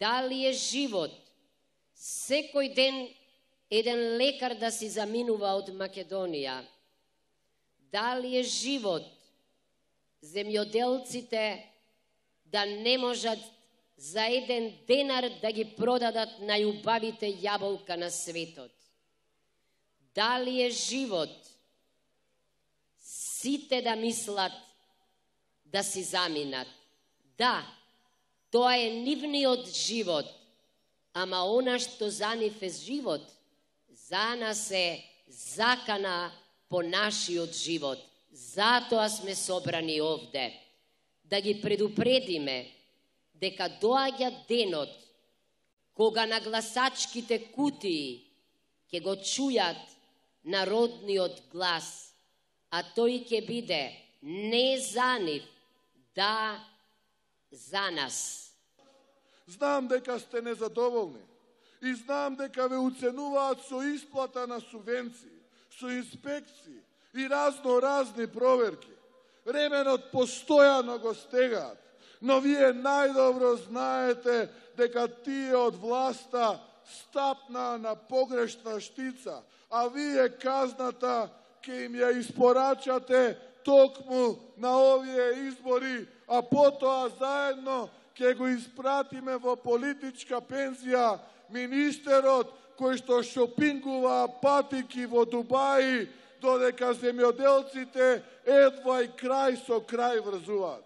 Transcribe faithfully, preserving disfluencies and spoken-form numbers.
Дали е живот секој ден еден лекар да си заминува од Македонија? Дали е живот земјоделците да не можат за еден денар да ги продадат најубавите јаболка на светот? Дали е живот сите да мислат да си заминат? Да, тоа е нивниот живот, ама она што за нив е живот, за нас е закана по нашиот живот. Затоа сме собрани овде, да ги предупредиме дека доаѓа денот кога на гласачките кутии ќе го чујат народниот глас, а тој ќе биде не за нив, да за нас. Знам дека сте незадоволни и знам дека ве уценуваат со исплата на субвенции, со инспекции и разно-разни проверки. Ременот постојано го стегаат, но вие најдобро знаете дека тие од власта стапнаа на погрешна штица, а вие казната ќе им ја испорачате токму на овие избори, а потоа заедно ќе го испратиме во политичка пензија министерот кој што шопингува патики во Дубаи, додека земјоделците едва и крај со крај врзуваат.